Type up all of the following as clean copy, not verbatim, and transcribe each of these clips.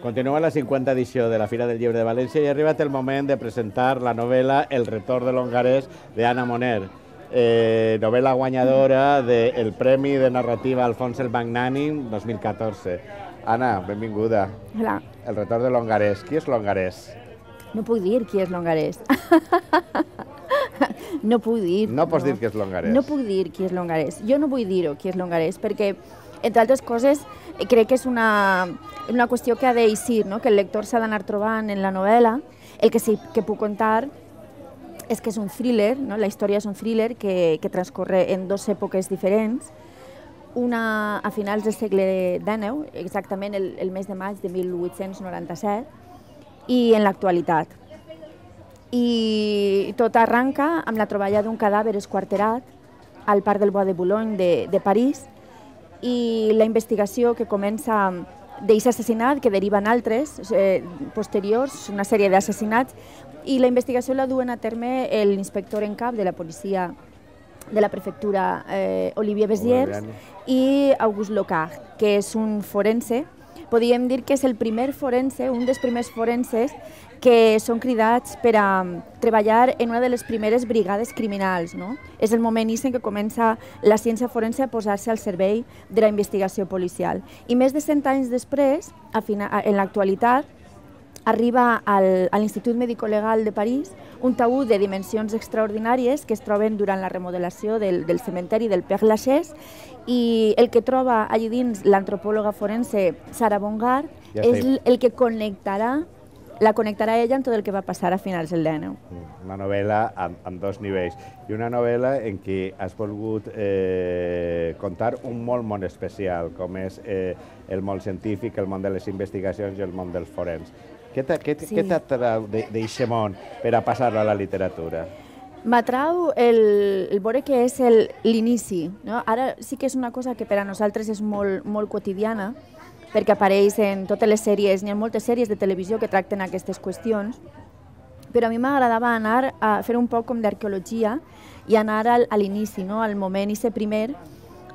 Continua la 50 edició de la Fira del Llibre de València i ha arribat el moment de presentar la novel·la El retorn de l'hongarès d'Anna Moner, novel·la guanyadora del Premi de Narrativa Alfons el Magnànim 2014. Anna, benvinguda. Hola. El retorn de l'hongarès. Qui és l'hongarès? No puc dir qui és l'hongarès. No puc dir. No pots dir qui és l'hongarès. No puc dir qui és l'hongarès. Jo no vull dir-ho, qui és l'hongarès, perquè, entre altres coses, crec que és una qüestió que ha d'eixir, no? Que el lector s'ha d'anar trobant en la novel·la. El que sí que puc contar és que és un thriller, no? La història és un thriller que transcorre en dues èpoques diferents, una a finals del segle XIX, exactament el mes de maig de 1897, i en l'actualitat. I tot arranca amb la troballa d'un cadàver esquarterat al Parc del Bois de Boulogne de París i la investigació que comença d'aquest assassinat, que deriva en altres posteriors, una sèrie d'assassinats, i la investigació la duen a terme l'inspector en cap de la policia de la prefectura, Olivier Béziers, i Auguste Locard, que és un forense. Podríem dir que és el primer forense, un dels primers forenses que són cridats per a treballar en una de les primeres brigades criminals. És el moment en què comença la ciència forense a posar-se al servei de la investigació policial. I més de 100 anys després, en l'actualitat, arriba a l'Institut Médico-Legal de París un taüt de dimensions extraordinàries que es troben durant la remodelació del cementeri del Père Lachaise, i el que troba allí dins l'antropòloga forense Sarah Bongard és el que la connectarà ella amb tot el que va passar a finals del XIX. Una novel·la amb dos nivells i una novel·la en què has volgut contar un món especial, com és el món científic, el món de les investigacions i el món dels forens. Què t'atrau d'aquest món per a passar-lo a la literatura? M'atrau el veure que és l'inici. Ara sí que és una cosa que per a nosaltres és molt quotidiana, perquè apareix en totes les sèries, n'hi ha moltes sèries de televisió que tracten aquestes qüestions, però a mi m'agradava anar a fer un poc com d'arqueologia i anar a l'inici, al moment primer,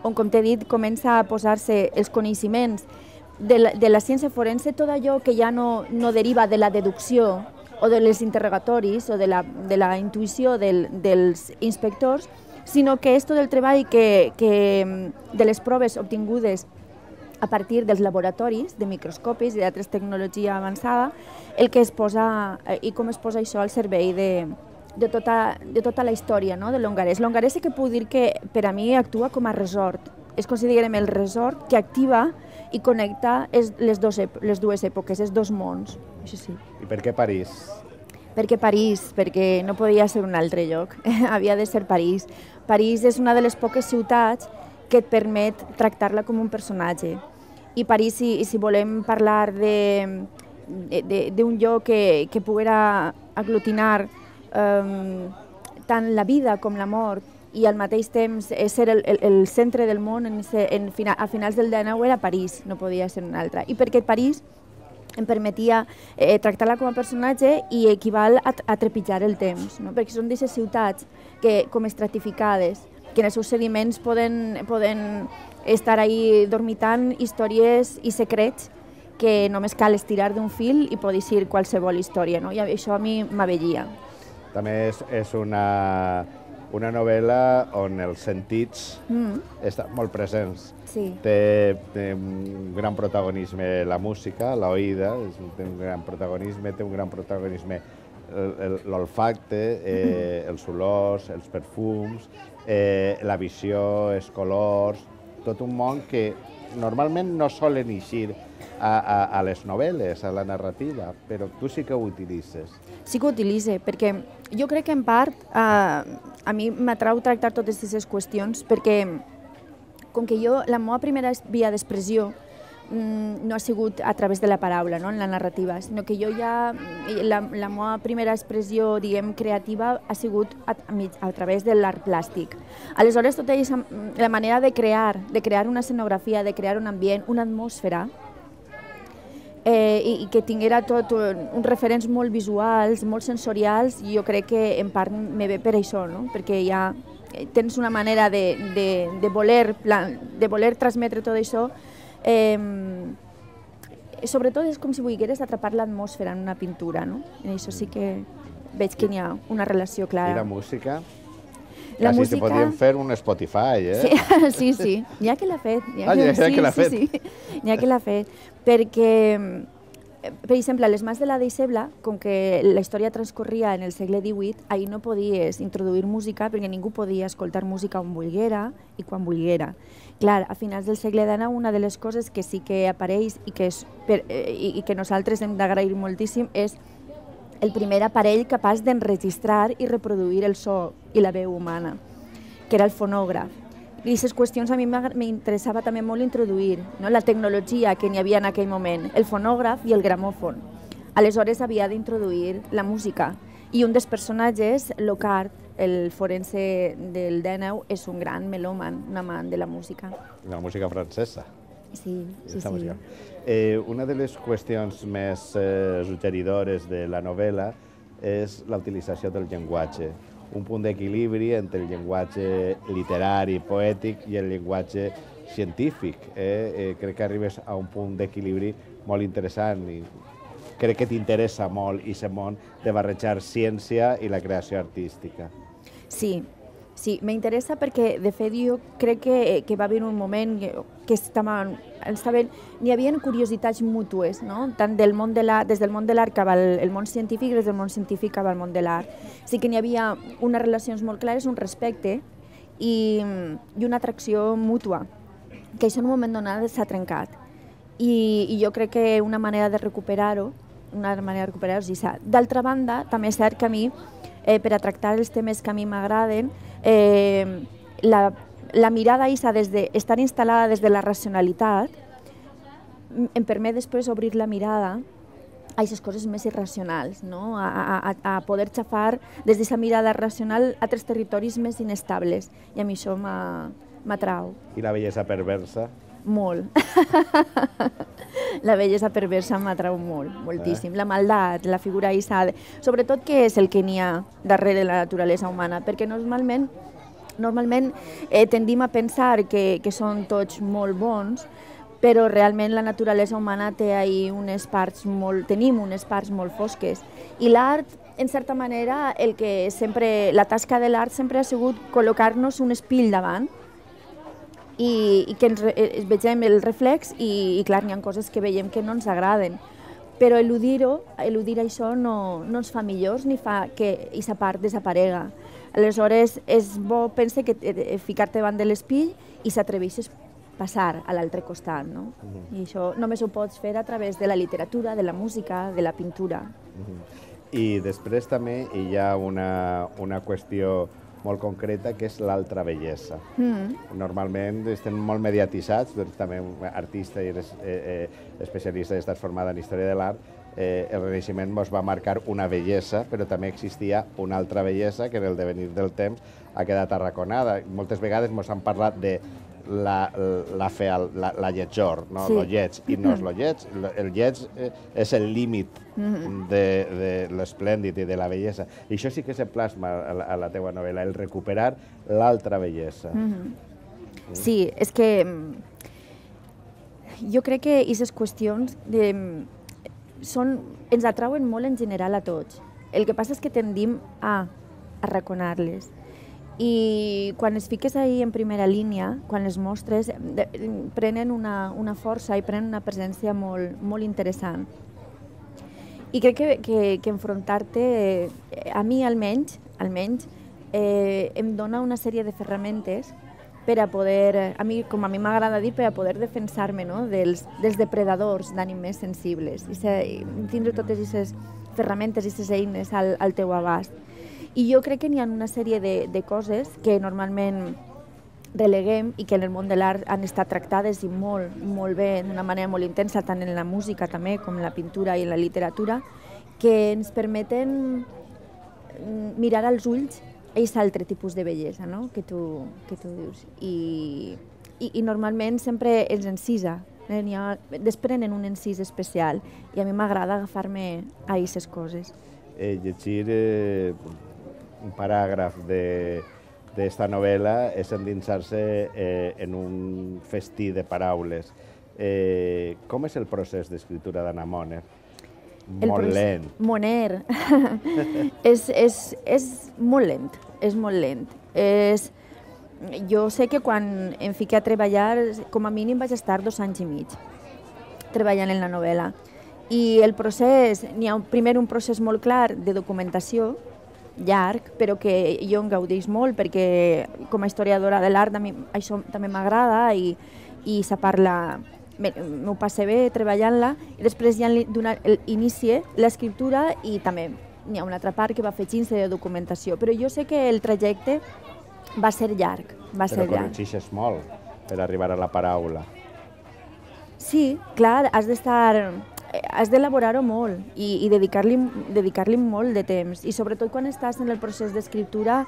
on, com t'he dit, comença a posar-se els coneixements de la ciència forense, tot allò que ja no deriva de la deducció o dels interrogatoris o de la intuïció dels inspectors, sinó que és tot el treball de les proves obtingudes a partir dels laboratoris, de microscopis i d'altres tecnologia avançada, el que es posa i com es posa això al servei de tota la història de l'hongarès. L'hongarès sí que puc dir que per a mi actua com a resort. És considerem el resort que activa i connecta les dues èpoques, els dos mons. I per què París? Per què París? Perquè no podia ser un altre lloc, havia de ser París. París és una de les poques ciutats que et permet tractar-la com un personatge. I París, si volem parlar d'un lloc que poguera aglutinar tant la vida com la mort i al mateix temps ser el centre del món a finals del XIX, era París, no podia ser un altre. I perquè París em permetia tractar-la com a personatge i equival a trepitjar el temps, perquè són d'aquestes ciutats com estratificades, que en els seus sediments poden estar ahí dormitant històries i secrets que només cal estirar d'un fil i pot dir qualsevol història, i això a mi m'avellia. També és una novel·la on els sentits estan molt presents. Té un gran protagonisme la música, l'oïda, té un gran protagonisme l'olfacte, els olors, els perfums, la visió, els colors, tot un món que normalment no solen eixir a les novel·les, a la narrativa, però tu sí que ho utilitzes. Sí que ho utilitzo, perquè jo crec que en part a mi m'atrau tractar totes aquestes qüestions, perquè com que la meva primera via d'expressió no ha sigut a través de la paraula, en la narrativa, sinó que la meva primera expressió, creativa, ha sigut a través de l'art plàstic. Aleshores, tota la manera de crear una escenografia, de crear un ambient, una atmosfera, i que tinguera tot uns referents molt visuals, molt sensorials, jo crec que en part me ve per això, perquè ja tens una manera de voler transmetre tot això sobretot és com si volgueres atrapar l'atmosfera en una pintura, no? En això sí que veig que hi ha una relació clara. I la música? La Quasi música... se podien fer un Spotify, eh? Sí. N'hi ha que l'ha fet. N'hi ha que l'ha fet. Perquè, per exemple, a les Mans de la Deixebla, com que la història transcorria en el segle XVIII, ahir no podies introduir música perquè ningú podia escoltar música on volguera i quan volguera. Clar, a finals del segle XIX, una de les coses que sí que apareix i que nosaltres hem d'agrair moltíssim és el primer aparell capaç d'enregistrar i reproduir el so i la veu humana, que era el fonògraf. I aquestes qüestions a mi m'interessava també molt introduir, no? La tecnologia que n'hi havia en aquell moment, el fonògraf i el gramòfon. Aleshores havia d'introduir la música. I un dels personatges, Lockhart, el forense del D9, és un gran melòman, un amant de la música. La música francesa. Sí. Una de les qüestions més suggeridores de la novel·la és la utilització del llenguatge, un punt d'equilibri entre el llenguatge literari, poètic i el llenguatge científic. Crec que arribes a un punt d'equilibri molt interessant i crec que t'interessa molt aquest món de barrejar ciència i la creació artística. Sí, m'interessa perquè, de fet, jo crec que va haver un moment que n'hi havia curiositats mútues, no? Tant des del món de l'art cap al món científic i des del món científic cap al món de l'art. Sí que n'hi havia unes relacions molt clares, un respecte i una atracció mútua, que això en un moment donat s'ha trencat. I jo crec que una manera de recuperar-ho és això. D'altra banda, també és cert que a mi, per a tractar els temes que a mi m'agraden, la mirada des d'estar instal·lada des de la racionalitat em permet després obrir la mirada a aquestes coses més irracionals, no? A poder xafar des d'aquesta mirada racional a altres territoris més inestables, i a mi això m'atrau. I la bellesa perversa? Molt. La bellesa perversa m'atrau moltíssim. La maldat, la figura aïssada, sobretot què és el que n'hi ha darrere de la naturalesa humana, perquè normalment tendim a pensar que són tots molt bons, però realment la naturalesa humana tenim unes parts molt fosques. I l'art, en certa manera, la tasca de l'art sempre ha sigut col·locar-nos un espill davant i que vegem el reflex i clar, n'hi ha coses que veiem que no ens agraden. Però eludir això no ens fa millors ni fa que aquesta part desaparega. Aleshores, és bo, pense, ficar-te davant de l'espill i s'atreveixes a passar a l'altre costat, no? I això només ho pots fer a través de la literatura, de la música, de la pintura. I després també hi ha una qüestió molt concreta, que és l'altra bellesa. Normalment estem molt mediatitzats, també artista i eres especialista i estàs formada en història de l'art, el Renaixement ens va marcar una bellesa, però també existia una altra bellesa que en el devenir del temps ha quedat arraconada. Moltes vegades ens han parlat de la lletjor, lo lleig, i no és lo lleig. El lleig és el límit de l'esplèndid i de la bellesa. I això sí que se plasma a la teua novel·la, el recuperar l'altra bellesa. Sí, és que jo crec que aquestes qüestions ens atrauen molt en general a tots. El que passa és que tendim a arraconar-les. I quan es fiques ahí en primera línia, quan les mostres, prenen una força i prenen una presència molt interessant. I crec que enfrontar-te, a mi almenys, em dona una sèrie de ferramentes per a poder, com a mi m'agrada dir, per a poder defensar-me dels depredadors d'ànim més sensibles i tindre totes aquestes ferramentes i aquestes eines al teu abast. I jo crec que n'hi ha una sèrie de coses que normalment releguem i que en el món de l'art han estat tractades i molt bé, d'una manera molt intensa, tant en la música també com en la pintura i en la literatura, que ens permeten mirar als ulls aquest altre tipus de bellesa, no? que tu dius. I normalment sempre ens encisa, desprenen un encís especial i a mi m'agrada agafar-me a aquestes coses. Llegir un paràgraf d'esta novel·la és endinsar-se en un festí de paraules. Com és el procés d'escriptura d'Anna Moner? El Molt procés- lent. Moner. És molt lent, és molt lent. Jo sé que quan em fiqué a treballar, com a mínim vaig estar 2 anys i mig treballant en la novel·la. I el procés, n'hi ha primer un procés molt clar de documentació, llarg, però que jo en gaudeix molt perquè com a historiadora de l'art a mi això també m'agrada i se parla, m'ho passe bé treballant-la, i després ja inicie l'escriptura i també n'hi ha una altra part que va fer 15 de documentació, però jo sé que el trajecte va ser llarg, va ser Però llarg. corregixes molt per arribar a la paraula. Sí, clar, has d'elaborar-ho molt i dedicar-li molt de temps. I sobretot quan estàs en el procés d'escriptura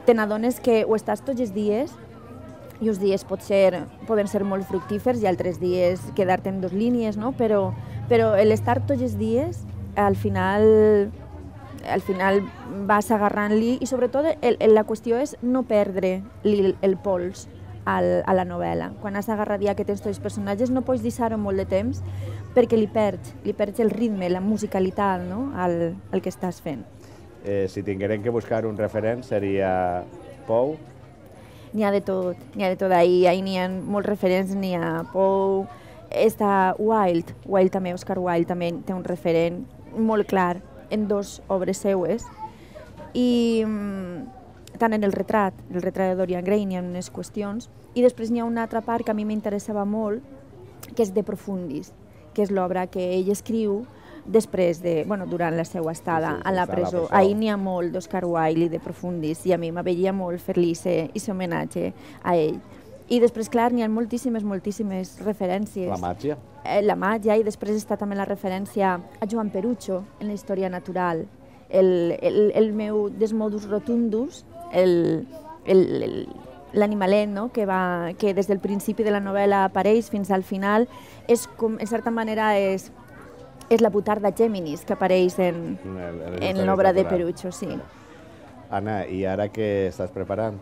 te n'adones que o estàs tots els dies i uns dies poden ser molt fructífers i altres dies quedar-te en 2 línies, no? Però l'estar tots els dies al final vas agarrant-li i sobretot la qüestió és no perdre el pols a la novel·la. Quan has agarrat ja que tens tots els personatges no pots deixar-ho molt de temps perquè li perds el ritme, la musicalitat, no? al que estàs fent. Si tinguérem que buscar un referent seria Pou. N'hi ha de tot, ahir n'hi ha molts referents, n'hi ha Pou, està Wilde també, Oscar Wilde també té un referent molt clar en 2 obres seues i tant en el retrat de Dorian Gray n'hi ha unes qüestions i després n'hi ha una altra part que a mi m'interessava molt que és De Profundis, que és l'obra que ell escriu després durant la seva estada a la presó. Ahir n'hi ha molt d'Oscar Wilde i De Profundis i a mi m'aveia molt fer-li aquest homenatge a ell. I després, clar, n'hi ha moltíssimes referències. La màgia. La màgia, i després està també la referència a Joan Perucho en la història natural. El meu Desmodus Rotundus, l'animalet, no? que des del principi de la novel·la apareix fins al final, en certa manera és la butarda Géminis que apareix en l'obra de Perucho. Sí. Anna, i ara què estàs preparant?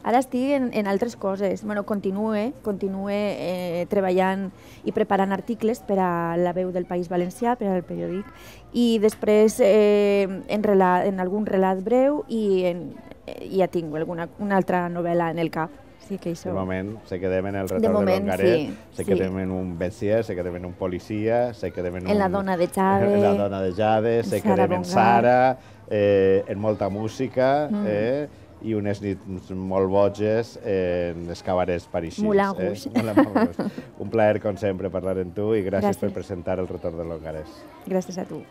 Ara estic en altres coses. Continue treballant i preparant articles per a La Veu del País Valencià, per al periòdic, i després en algun relat breu i ja tinc una altra novel·la en el cap. De moment se quedem en el retorn de l'Hongaret, se quedem en un bestier, se quedem en un policia, se quedem en la dona de Jade, se quedem en Sara, en molta música i unes nits molt boges en els cabarets parisins. Moulin Rouge. Un plaer, com sempre, parlar amb tu i gràcies per presentar el retorn de l'Hongaret. Gràcies a tu.